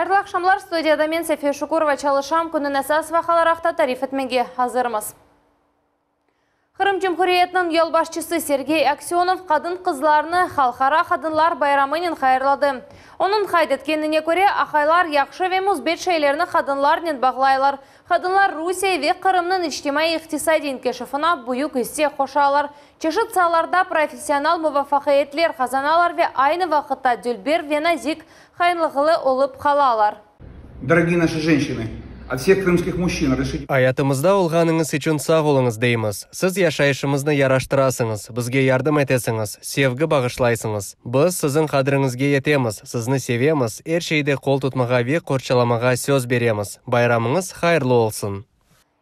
Hayırlı aqşamlar, studiyada men, Sefiye Şukurova, çalışam. Künniñ esas vaqiaları aqta tarif etmege azırmız. Qırım Cumhuriyetiniñ yolbaşçısı Sergey Aksönov qadın-qızlarnı Halqara qadınlar bayramınen hayırladı. Onıñ qayd etkenine köre, aqaylar yahşı ve müsbet şeylerni qadınlarnen bağlaylar. Qadınlar Rusiye ve Qırımnıñ içtimaiy-iqtisadiy inkişafına büyük isse qoşalar, çeşit saalarda professional muvafaqiyetler qazanalar ve aynı vaqıtta dülber ve nazik, hayırlıqlı olıp qalalar. Dorogiye naşi jenşçinı, ot vseh krımskih mujçin razrešite. Ayatımızda olğanıñız içün sağ oluñız deymiz. Siz yaşayışımıznı yaraştırasıñız, bizge yardım etesiñiz, sevgi bağışlaysıñız. Biz siziñ qadriñizge yetemiz, sizni sevemiz, er şeyde qol tutmağa ve qorçalamağa söz beremiz. Bayramıñız hayırlı olsun!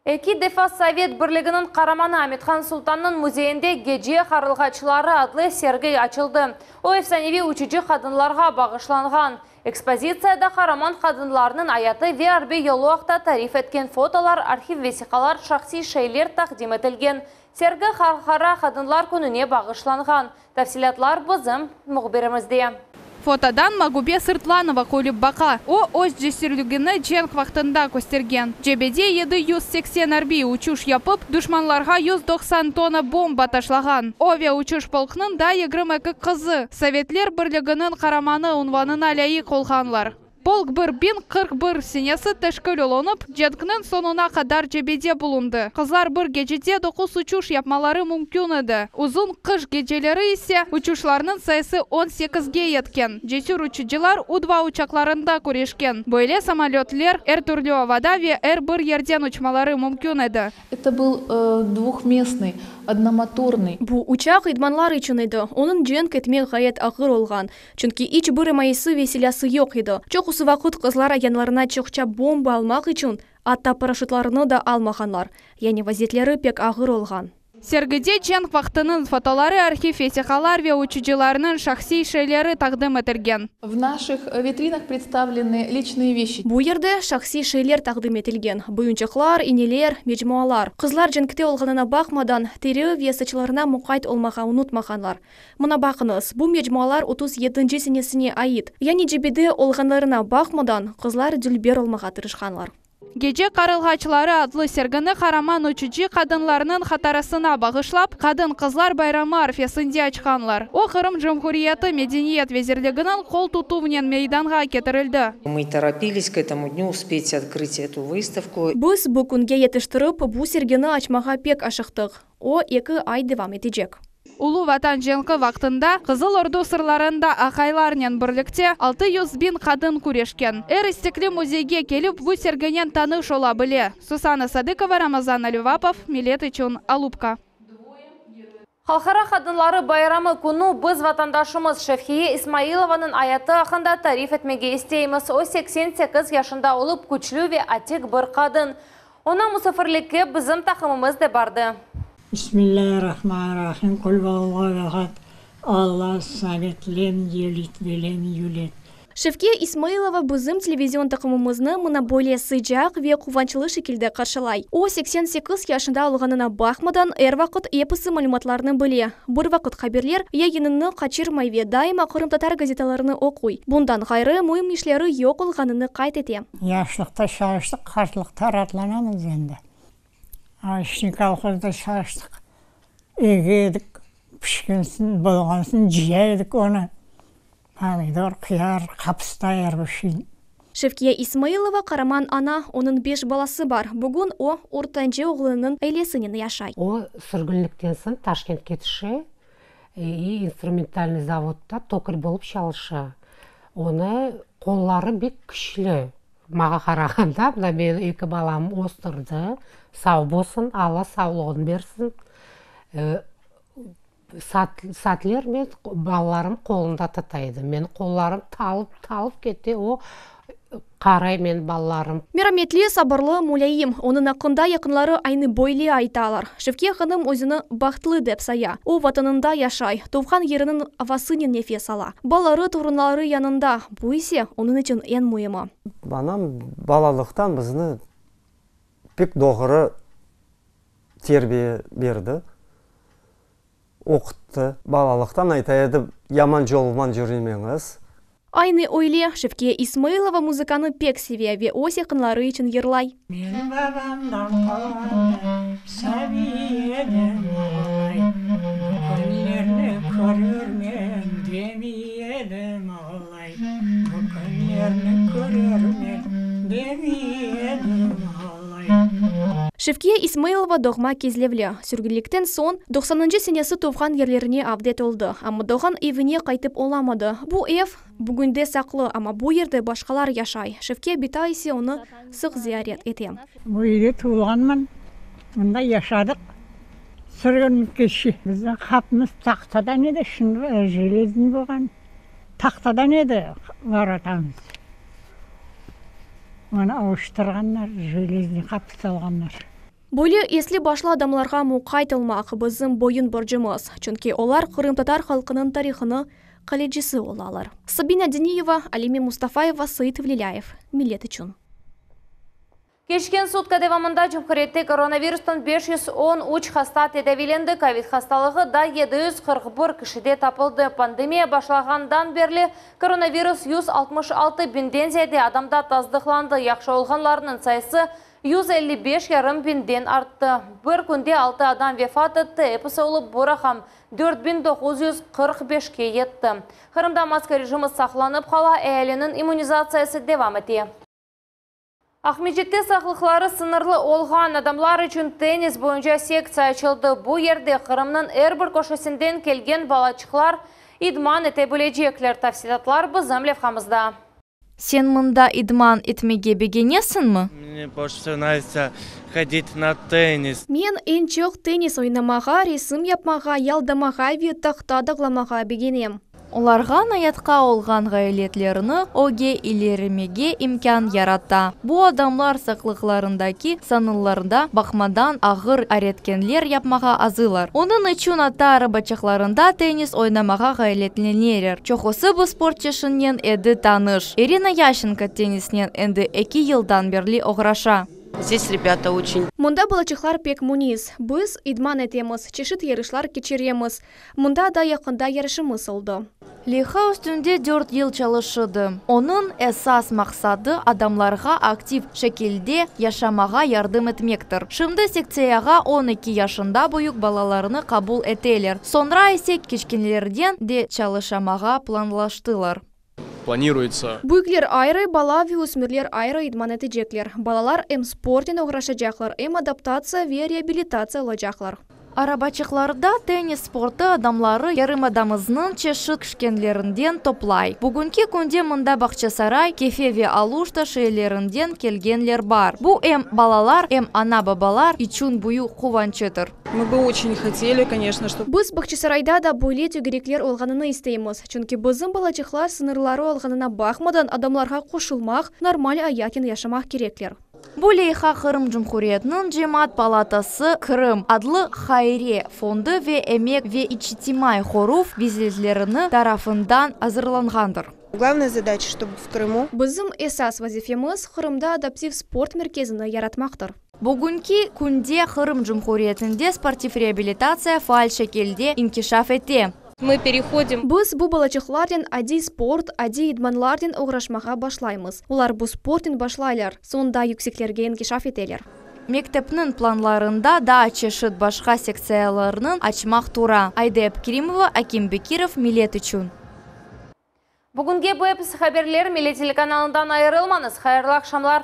Eki defa Sovet Birliginiñ Qaramanı Amethan Sultannıñ müzeyinde Gece qarılğaçları adlı sergi açıldı. O, efsaneviy uçucı qadınlarğa bağışlanğan. Ekspozitsiyada qaraman qadınlarnıñ ayatı ve arbiy yolu aqta tarif etken fotolar, arhiv vesiqalar, şahsiy şeyler taqdim etilgen. Sergi Halqara qadınlar kününe bağışlanğan. Tafsilâtlar bizim mühbirimizde. Fotodan Magube Sırtlanova külip baqa. O, öz cesürligini cenk vaqtında köstergen. Cebede 780 arbiy uçuş yapıp, duşmanlarğa 190 tonna bomba taşlağan. O ve uçuş polknıñ daa 22 qızı Sovetler Birliginiñ Qaramanı unvanına lâyıq olğanlar. Polk 1041 senesi teşkil olunıp, cenkniñ soñuna qadar cebede bulundı. Qızlar bir gecede doquz uçuş yapmaları mümkün edi. Uzun qış geceleri ise uçuşlarnıñ sayısı on sekizge yetken. Cesür uçucılar U-dva uçaqlarında küreşken. Böyle samolötler er türlü avada ve er bir yerden uçmaları mümkün edi. Eto byl dvuhmestnıy, odnomotornıy. Bu uçaq idmanlar içün edi, onıñ cenk etmek ğayet ağır olğan, çünki iç bir imayesi ve silâsı yoq edi. Çoqusı vaqıt qızlar yanlarına çoqça bomba almaq içün atta paraşütlarını da almağanlar, yani vaziyetleri pek ağır olğan. Sergide cenk vaqtınıñ fotoları, arhiv vesiqalar ve uçucılarnıñ şahsiy şeyleri taqdim etilgen. V naşih vitrinah predstavlenı liçnıye veşçi. Bu yerde şahsiy şeyler taqdim etilgen, boyunçaqlar, ineler, mecmualar. Qızlar cenkte olğanına baqmadan, teri ve saçlarına muqayt olmağa unutmağanlar. Mına baqıñız, bu mecmualar 37-nci senesine ait. Yani cebede olğanlarına baqmadan, qızlar dülber olmağa tırışqanlar. Gece qarılğaçları adlı sergini qaraman uçucı qadınlarnıñ hatırasına bağışlap, Qadın-qızlar bayramı arfesinde açqanlar. O, Qırım Cumhuriyeti Medeniyet vezirliginiñ qol tutuvınen meydanğa ketirildi. Мы торопились к этому дню успеть открыть эту выставку. Biz bu künge yetiştirip, bu sergini açmağa pek aşıqtıq. O, eki ay devam etecek. Ulu Vatan cenki vaqtında Qızıl Ordu sırlarında aqaylarnen birlikte 600 biñ qadın küreşken. Er istekli müzeyge kelip bu serginen tanış ola bile. Susana Sadıkova, Ramazan Alivapov, Millet içün, Alupka. Halqara qadınları bayramı künü biz vatandaşımız Şevhiye İsmailovanıñ ayatı aqqında tarif etmege isteymiz. O, 88 yaşında olıp, küçlü ve atik bir qadın. Oña musafirlikke bizim taqımımız da bardı. Bismillâhirrahmanirrahim, Qul huvallahu ehad, Allahu samed, lem yelid ve lem yuled. Şevkiye İsmailova bizim televizion taqımımıznı mına böyle sıcaq ve quvançlı şekilde qarşılay. O, 88 yaşında olğanına baqmadan, er vaqıt episi malümatlarnı bile, bir vaqıt haberler yayınını qaçırmay ve daima qırımtatar gazetalarını oquy. Bundan ğayrı, müim işleri yoq olğanını qayd ete. Yaşlıqta çalıştıq, qartlıqta raatlanamız endi. Ayşe kolhozda çalıştıq. Ege edik, pişkensin, bolğansın cıya edik onı. Pomidor, qıyar, qapısta, er bir şey. Şevkiye İsmailova qaraman ana, onıñ beş balası bar. Bugün o, ortancı oğlunıñ ailesinen yaşay. O, sürgünlikten soñ Taşkentke tüşe i instrumentalnıy zavodda tokar bolıp çalışa. Onı qolları bek küçlü. Mağa qarağanda, mına meni eki balam östürdi, sav bolsun, Alla savlığını bersin. Saatler men balalarım qolunda tuta edim. Menim qollarım talıp, talıp kete, o qaray menim balalarım. Merametli, sabırlı, mulâyim. Onıñ aqqında yaqınları aynı böyle aytalar. Şevkiye hanım özüni bahtlı dep saya. O, Vatanında yaşay, tuvğan yeriniñ avasınen nefes ala. Balaları, torunları yanında, bu ise onıñ içün eñ müimi. Anam balalıqtan bizni pek doğru terbiye berdi, oquttı. Balalıqtan ayta edi, yaman yolman yürümeñiz. Aynı öyle, Şevkiye İsmailova muzıkanı pek seve ve öz yaqınları içün yırlay. Men babamdan qalğanı sabiy edim ağlay, Bu künlerni körermen demiy edim ağlay, Bu künlerni körermen demiy edim ağlay. Şevkiye İsmailova doğma Kezlevli. Sürgünlikten soñ, doqsanıncı senesi tuvğan yerlerine avdet oldı, amma doğğan evine qaytıp olamadı. Bu ev bugün de saqlı, amma bu yerde başqalar yaşay. Şevkiye bita ise onı sıq ziyaret ete. Bu yerde tuvulğanman, mında yaşadıq. Sürgünlikkeçe bizim qapımız tahtadan edi, şimdi jeleznıy bolğan. Tahtadan edi vorotamız. Onı avuştırğanlar, jeleznıy qapı salğanlar. Böyle esli-başlı adamlarğa muqayt olmaq, bizim boyun borcumız, çünki olar qırımtatar halqınıñ tarihını qalecisi olalar. Sabina Diniyeva, Alime Mustafayeva, Seit Vlilâyev, Millet içün. Keçken sutka devamında cumhuriyette koronavirustan 513 hasta tedaviylendi, kovid hastalığı da 741 kişide tapıldı. Pandemiya başlağandan berli koronavirus 166 biñden ziyade adamda tasdıqlandı, yahşı olğanlarnıñ sayısı 155 yarım biñden arttı. Bir künde altı adam vefat etti, episi olıp bu raqam 4945-ke yetti. Qırımda maska rejimi saqlanıp qala, ealiniñ immunizatsiyası devam ete. Aqmescitte sağlıqları sıñırlı olğan adamlar içün tennis boyunca sektsiya açıldı. Bu yerde Qırımnıñ er bir köşesinden kelgen balaçıqlar idman ete bilecekler. Tafsilâtlar bizim levhamızda. Sen mında idman etmege begenesiñmi? Mne больше всего нравится ходить на теннис. Men eñ çoq tennis oynamağa, resim yapmağa, yaldamağa ve tahta dağlamağa begenem. Olarğa ayatqa olğan ğayretlerini ögge ilerimege imkân yarata. Bu adamlar saqlıqlarındaki sıñırlarğa baqmadan ağır areketler yapmağa azırlar. Onıñ içün atta arabaçıqlarında tennis oynamağa ğayretleneler. Çoqusı bu sport çeşitinen endi tanış. İrina Yaşenko tennisnen endi eki yıldan berli oğraşa. Здесь ребята очень Mında balaçıqlar pek munis. Biz idman etemiz, çeşit yarışlar keçiremiz. Mında da yaqında yarışımız oldı. Leyha üstünde dört yıl çalışıldı. Onıñ esas maqsadı adamlarğa aktiv şekilde yaşamağa yardım etmektir. Şimdi sektsiyağa 12 yaşından büyük balalarnı qabul eteler. Soñra ise kiçkenelernen de çalışmağa planlaştılar. Планируется Büyükler ayrı, bala ve ösmürler ayrı idman etecekler. Balalar em sportnen oğraşacaqlar, em adaptatsiya ve reabilitatsiya olacaqlar. Arabaçıqlarda tennis sportı adamları yarımadamıznıñ çeşit köşelerinden toplay. Bugünki künde mında Bağçasaray, Kefe ve Aluşta şeerlerinden kelgenler bar. Bu em balalar, em ana-babalar içün büyük quvançtır. Мы бы очень хотели, конечно, чтобы Biz Bağçasarayda da böyle tögerekler olğanını isteymiz. Çünki bizim balaçıqlar sıñırları olğanına baqmadan adamlarğa qoşulmaq, normal ayatnen yaşamaq kerekler. Bu leyha Qırım Cumhuriyetiniñ Cemaat Palatası Qırım adlı hayriye fondu ve Emek ve içtimaiy qoruv nazirligi tarafından azırlanğandır. Главная задача, чтобы в Крыму Bizim esas vazifemiz Qırımda adaptiv sport merkezini yaratmaqtır. Bugünki künde Qırım Cumhuriyetinde sportiv reabilitatsiya faal şekilde inkişaf ete. Мы переходим Biz bu balaçıqlarnen adiy sport, adiy idmanlarnen oğraşmağa başlaymız. Olar bu sportnen başlaylar, soñ da yükseklerge inkişaf eteler. Mektepniñ planlarında daa çeşit başqa sektsiyalarnı açmaq tura. Ayde Abkerimova, Akim Bekirov, Millet içün. Bugünge bu episi haberler Millet telekanalından ayırılmañız. Hayırlı aqşamlar.